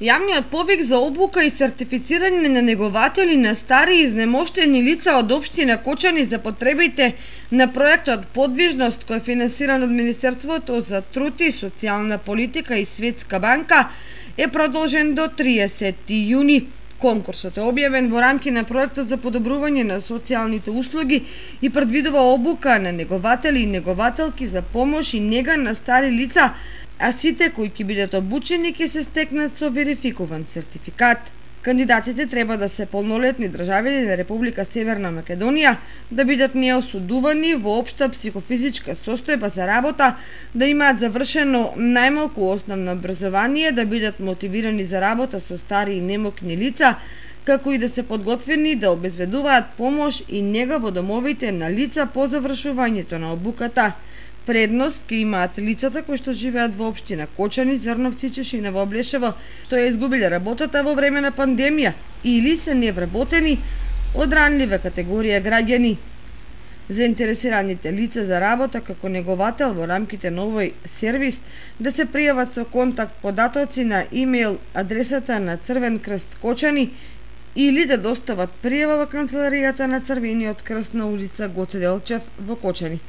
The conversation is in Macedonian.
Јавниот повик за обука и сертифицирање на негователи на стари и изнемоштени лица од општина Кочани за потребите на проектот Подвижност, кој е финансиран од Министерството за труд и социјална политика и Светска банка, е продолжен до 30 јуни. Конкурсот е објавен во рамки на проектот за подобрување на социјалните услуги и предвидува обука на негователи и негователки за помош и нега на стари лица, а сите кои ќе бидат обучени ќе се стекнат со верификуван сертификат. Кандидатите треба да се полнолетни државјани на Република Северна Македонија, да бидат неосудувани во општа психофизичка состојба за работа, да имаат завршено најмалку основно образование, да бидат мотивирани за работа со стари и немокни лица, како и да се подготвени да обезбедуваат помош и нега во домовите на лица по завршувањето на обуката. Предност ќе имаат лицата кои што живеат во општина Кочани, Црновци, Чешиново, Облешево, што ја изгубиле работата во време на пандемија или се невработени од ранлива категорија граѓани. Заинтересираните лица за работа како неговател во рамките на овој сервис да се пријават со контакт податоци на имејл адресата на Црвен крст Кочани или да достават пријава во канцеларијата на Црвениот крст на улица Гоце Делчев во Кочани.